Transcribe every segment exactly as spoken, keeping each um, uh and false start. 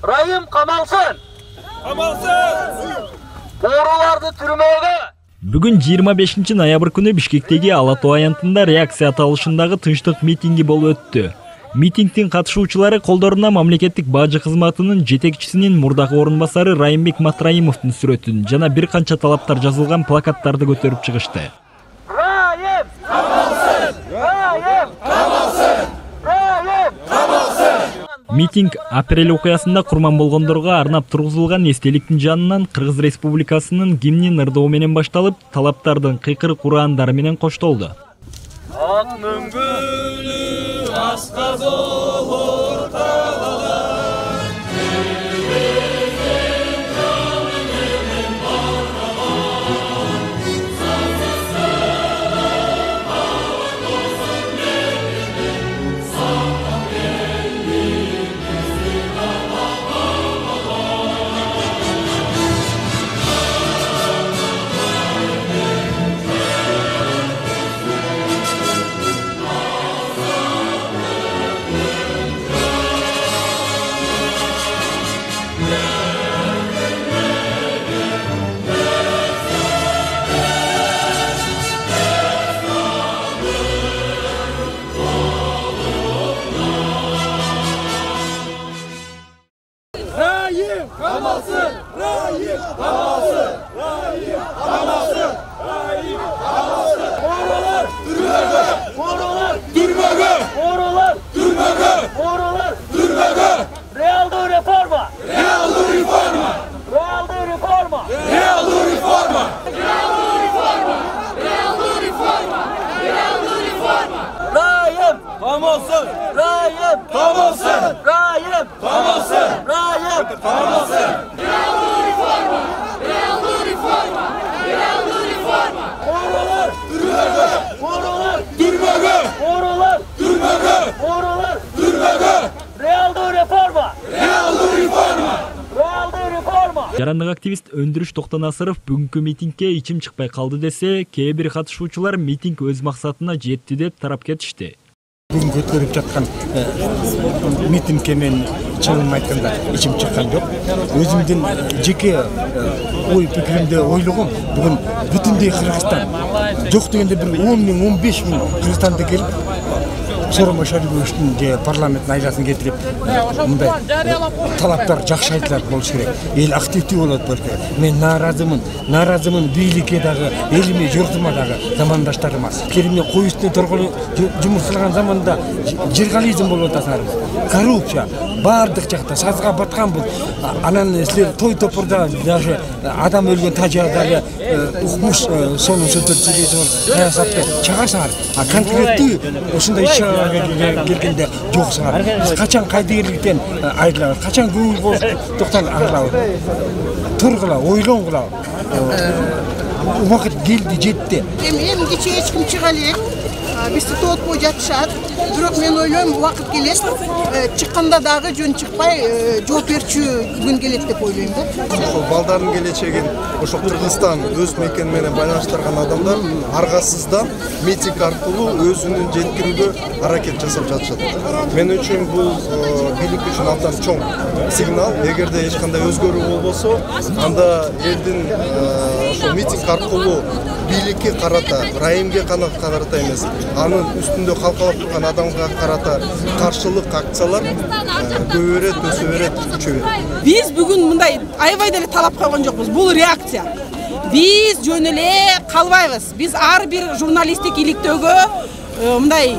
Райым камалсын. Камалсын. Бооруларды түрмөгө. Бүгүн жыйырма бешинчи ноябрь күнү Бишкектеги Ала Тоо аянтында реакция аталышындагы тынчтык митинги болуп өттү. Митингдин катышуучулары колдоруна мамлекеттик бажы кызматынын жетекчисинин мурдагы орун басары Райымбек Матраимовдун сүрөтүн жана бир канча талаптар жазылган плакаттарды көтөрүп чыгышты. Райым камалсын! Райым камалсын! Райым камалсын! Митинг апрель окуясында курман болгондорго арнап тургузулган эстеликтин жанынан Кыргыз Республикасынын гимнин ырдоо менен башталып, талаптардын кыйкырык ураандары менен коштолду. Ак мөңгүлү асказ болор талалар. Rayim kamалсын! Rayim kamалсын! Rayim kamалсын! Rayim kamалсын! Boorулар түрмөгө! Boorулар түрмөгө! Boorулар түрмөгө! Boorулар түрмөгө! Реалдуу реформа! Реалдуу реформа! Реалдуу реформа! Реалдуу реформа! Реалдуу реформа! Реалдуу реформа! Реалдуу реформа! Rayim камалсын! Rayim камалсын! Rayim камалсын! Rayim камалсын! Реалдуу реформа! Реалдуу реформа! Реалдуу реформа! Боорулар түрмөгө! Боорулар түрмөгө! Боорулар түрмөгө! Боорулар түрмөгө! Реалдуу реформа! Реалдуу реформа! Реалдуу реформа! Жарандык активист Өндүрүш Токтонасыров бүгүнкү митингге ичим чыкпай калды десе, кээ бир катышуучулар митинг өз максатына жетти деп тарап кетишти. Бүгүн көтөрүп жаткан митингке мен чынын айтканда ичим чыккан жок. Өзүмдүн жеке ой пикиримде ойлогом, бүгүн бүтүндөй Кыргызстан жок дегенде бир он миң он беш миң кыргызстанды келип Сооронбай Машариповичтин же парламенттин айласын кетирип мындай талаптар жакшы айтылат болуш керек. Эл активдүү болот болуш керек. Мен нааразымын, нааразымын бийликке дагы, элиме, журтума дагы, замандаштарыма. Кериме кой үстүнө торголуп жумуш кылган заманда жыргализм болуп атасыңарбыз. Коррупция бардык жакта сазга баткан бул. Анан силер той топурда даже адам өлгөн тажадагы укмуш сонун сөздөр сүйлөйсүңөр, саясатты чыгарсаңар. А конкреттүү ушундай иш келгенде жоксуңар. Биз качан кайдыгерликтен айрылабыз, качан көңүл боштуктан арылабыз. Тургула, ойлонгула. Убакыт келди, жетти. Эми эми кече эч ким чыга элек. Бизди тоотпой жатышат. Бирок мен ойлойм, убакыт келет. Чыкканда дагы жөн чыкпай жооп берчү күн келет деп ойлойм да. Ошол балдардын келечегин ошо Кыргызстан өз мекени менен байланыштырган адамдар аргасыздан митинг аркылуу өзүнүн жеткирүүгө аракет жасап жатышат. Мен үчүн бул бийлик үчүн абдан чоң сигнал. Эгерде эч кандай өзгөрүү болбосо, анда элдин ошо митинг аркылуу бийликке карата, Райымге карата эмес, анын үстүндө калкалап турган адамга карата каршылык акциялар көбөйрөт, өсө берет, күчө берет. Биз бүгүн мындай аябай деле талап койгон жокпуз. Бул реакция. Биз жөн эле калбайбыз. Биз ар бир журналисттик иликтөөгө мындай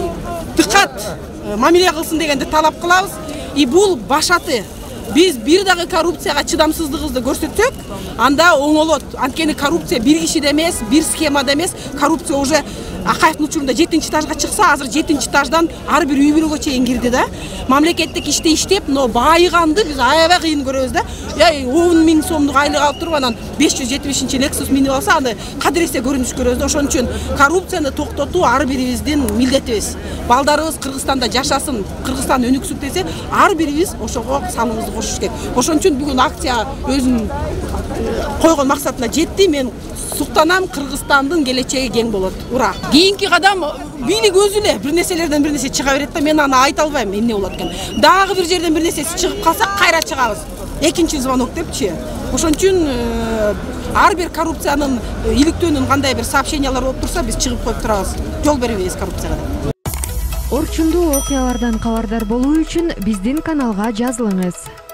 дыккат мамиле кылсын дегенди талап кылабыз. И бул башаты. Биз бир дагы коррупцияга чыдамсыздыгыбызды көрсөтсөк, анда оңолот. Анткени коррупция бир кишиде эмес, бир схемада эмес. Коррупция уже Акаевдин учурунда жетинчи этажга чыкса, азыр жетинчи этаждан ар бир үй бүлөгө чейин кирди да. Мамлекеттик иште иштеп, но байыганды биз аябай кыйын көрөбүз да. Я он миң сомдук айлык алып туруп, анан беш жүз жетимишинчи Lexus минип алса, анда кадыресе көрүнүш көрөбүз да. Ошон үчүн коррупцияны токтотуу ар бирибиздин милдетибиз. Балдарыбыз Кыргызстанда жашасын, Кыргызстан өнүксүн десе, ар бирибиз ошого салымыбызды кошуш керек. Ошон үчүн бүгүн акция өзүнүн койгон максатына жетти. Мен суктанам, Кыргызстандын келечеги кең болот. Ура! Кийинки кадам бийлик өзү эле бир нерселерден бир нерсе чыга берет да, мен аны айта албайм эмне болот экен. Дагы бир жерден бир нерсеси чыгып калса кайра чыгабыз. Экинчи звонок депчи. Ошон үчүн ар бир коррупциянын иликтөөнүн кандай бир сообщениялары болуп турса, биз чыгып коюп турабыз. Жол бербейбиз коррупцияга. Орчундуу окуялардан кабардар болуу үчүн биздин каналга жазылыңыз.